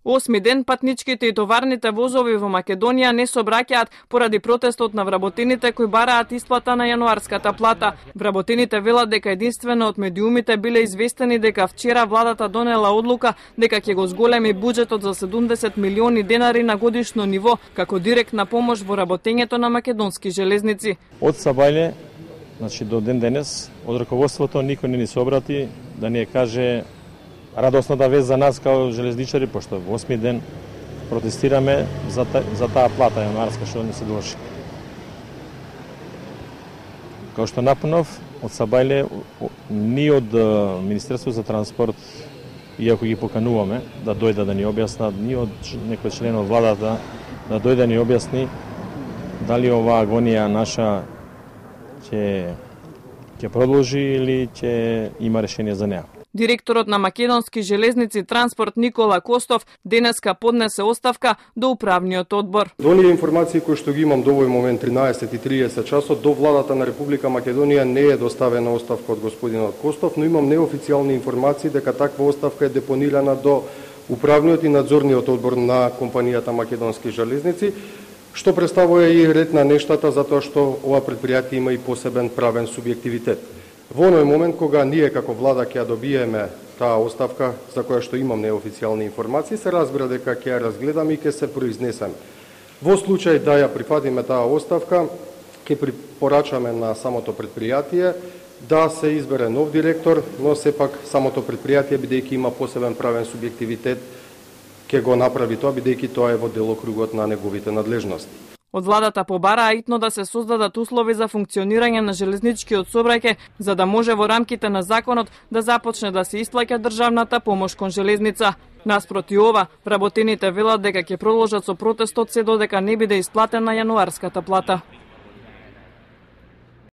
8 ден патничките и товарните возови во Македонија не сообраќаат поради протестот на вработените кои бараат исплата на јануарската плата. Вработените велат дека единствено од медиумите биле известени дека вчера владата донела одлука дека ќе го зголеми буџетот за 70 милиони денари на годишно ниво како директна помош во работењето на македонски железници. Од Сабајле, значи до ден денес, од раководството никој не ни се обрати да ни каже радосната вест за нас као железничари, пошто во 8 ден протестираме за таа плата јануарска што не се должи. Као што напомнав, од Сабајле, ни од Министерство за транспорт, иако ги покануваме да дојдат да ни објаснат, ни од некој член од владата да дојде да ни објасни дали оваа агонија наша ќе продолжи или ќе има решение за неа. Директорот на Македонски железници транспорт Никола Костов денеска поднесе оставка до управниот одбор. До оние информации кои што ги имам до овој момент 13:30 часот до владата на Република Македонија не е доставена оставка од господинот Костов, но имам неофицијални информации дека таква оставка е депонирана до управниот и надзорниот одбор на компанијата Македонски железници, што представува и ред на нештата затоа што ова претпријатие има и посебен правен субјективитет. Во оној момент кога ние како влада ќе ја добиеме таа оставка за која што имам неофицијални информации, се разбира дека ќе ја разгледаме и ќе се произнесеме. Во случај да ја прифатиме таа оставка, ќе препорачаме на самото претпријатие да се избере нов директор, но сепак самото претпријатие бидејќи има посебен правен субјективитет, ќе го направи тоа бидејќи тоа е во делокругот на неговите надлежности. Од владата побараа итно да се создадат услови за функционирање на железничкиот сообраќај, за да може во рамките на законот да започне да се исплаќа државната помош кон железница. Наспроти ова, вработените велат дека ќе продолжат со протестот се додека не биде исплатена јануарската плата.